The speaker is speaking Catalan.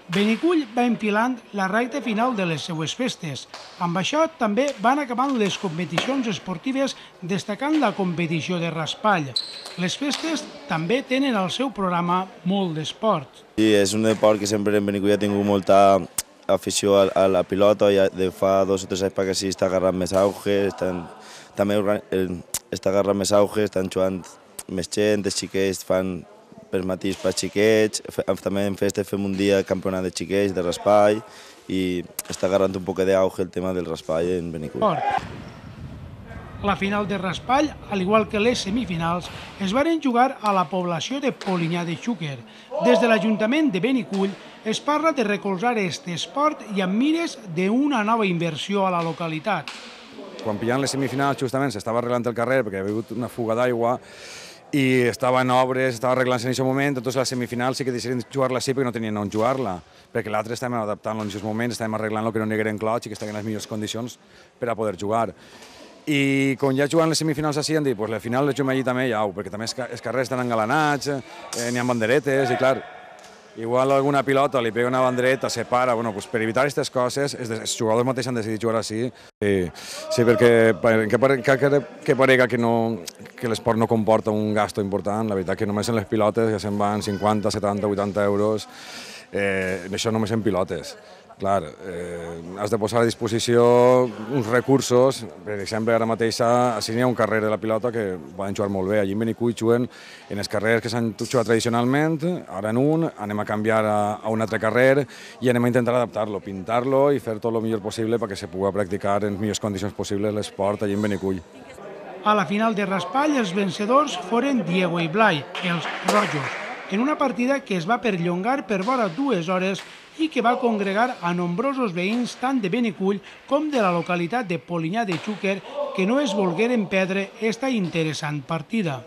Benicull va enfilant la recta final de les seues festes. Amb això també van acabant les competicions esportives, destacant la competició de raspall. Les festes també tenen al seu programa molt d'esport. Sí, és un esport que sempre en Benicull ha tingut molta afició a la pilota i de fa 2 o 3 anys perquè sí està agarrant més auge, també està agarrant més auge, estan jugant més gent, els xiquets fan per matís per xiquets, també en festes fem un dia campionat de xiquets, de raspall, i està agarrant un poc d'auge el tema del raspall en Benicull. La final de raspall, al igual que les semifinals, es varen jugar a la població de Polinyà de Xúquer. Des de l'Ajuntament de Benicull es parla de recolzar aquest esport i amb mires d'una nova inversió a la localitat. Quan pillant les semifinals justament s'estava arreglant el carrer perquè hi havia hagut una fuga d'aigua i estava en obres, estava arreglant-se en aquest moment, entonces la semifinal sí que decidien jugar-la així perquè no tenien on jugar-la, perquè l'altre estàvem adaptant-lo en aquests moments, estàvem arreglant-lo que no n'hi hagueren clots i que estiguin en les millors condicions per a poder jugar. I quan ja jugant les semifinals així han dit, pues la final les juguem allí també, ja, perquè també els carrers estan engalanats, n'hi ha banderetes i clar, igual alguna pilota li pega una bandereta, separa, bueno, pues per evitar aquestes coses, els jugadors mateixos han decidit jugar així. Sí, perquè que parega que l'esport no comporta un gasto important, la veritat que només en les pilotes ja se'n van 50, 70, 80 euros, això només en pilotes. Clar, has de posar a disposició uns recursos, per exemple, ara mateix així n'hi ha un carrer de la pilota que poden jugar molt bé. Allí en Benicull juguen en els carrers que s'han jugat tradicionalment, ara en un, anem a canviar a un altre carrer i anem a intentar adaptar-lo, pintar-lo i fer tot el millor possible perquè se pugui practicar en les millors condicions possibles l'esport allí en Benicull. A la final de raspall, els vencedors foren Diego i Blai, els rojos, en una partida que es va perllongar per vora 2 hores i que va congregar a nombrosos veïns tant de Benicull com de la localitat de Polinyà de Xúquer que no es volgueren perdre esta interessant partida.